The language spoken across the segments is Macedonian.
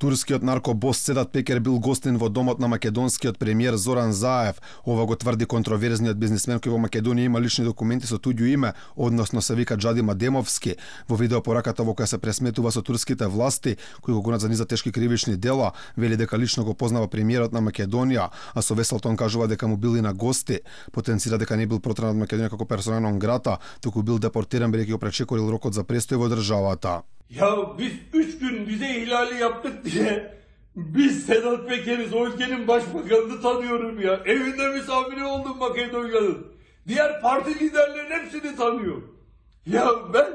Турскиот наркобос Седат Пекер бил гостин во домот на македонскиот премиер Зоран Заев. Ова го тврди контроверзниот бизнисмен кој во Македонија има лични документи со туѓо име, односно се вика Джади Мадемовски. Во видеопораката во која се пресметува со турските власти, кои го гонат за низа тешки кривични дела, вели дека лично го познава премиерот на Македонија, а со весел тон кажува дека му бил и на гости. Потенцира дека не бил протеран од Македонија како персона нон грата, туку бил депортиран бидејќи го пречекорил рокот за престој во државата. Ya biz 3 gün vize ihlali yaptık diye biz Sedat Peker'iz, o ülkenin başbakanını tanıyorum ya. Evinde misafiri oldum Makedonya'nın. Diğer parti liderlerin hepsini tanıyor. Ya ben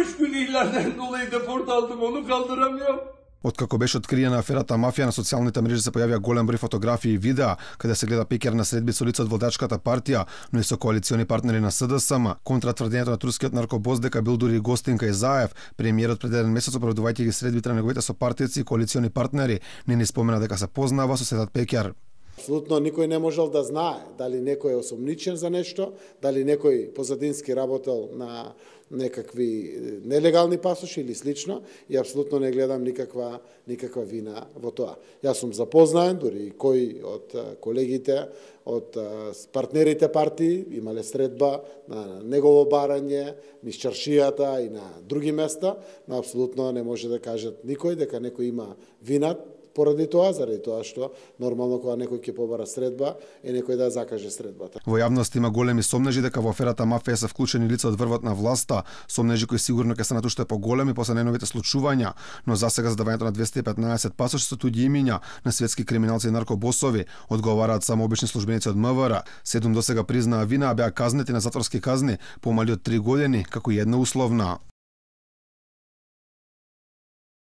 3 gün ihlalden dolayı deport aldım, onu kaldıramıyorum. Откако беше откриена аферата мафија, на социјалните мрежи се појавија голем број фотографии и видеа каде се гледа Пекер на средби со лице од водачката партија, но и со коалициони партнери на СДСМ. Контра тврдењето на турскиот наркобос дека бил дури гостин кај Заев, премиерот пред еден месец оправдувајќи ги средбите на неговите сопартијци и коалициони партнери, не ни спомена дека се познава со Седат Пекер. Апсолутно никој не можел да знае дали некој е осомничен за нешто, дали некој позадински работел на некакви нелегални пасоши или слично, и апсолутно не гледам никаква вина во тоа. Јас сум запознаен, дури кој од колегите, од партнерите партии имале средба на негово барање, низ чаршијата и на други места, но апсолутно не може да кажат никој дека некој има вина поради тоа, заради тоа што нормално кога некој ќе побара средба е некој да закаже средбата. Во јавност има големи сомнежи дека во аферата мафија се вклучени лица од врвот на власта, сомнежи кои сигурно ќе станат уште поголеми после најновите случувања, но засега задавањето на 215 пасоши со туѓи имиња на светски криминалци и наркобосови одговараат само обични службеници од МВР. 7 досега признаа вина, а беа казнети на затворски казни помали од 3 години, како и една условна.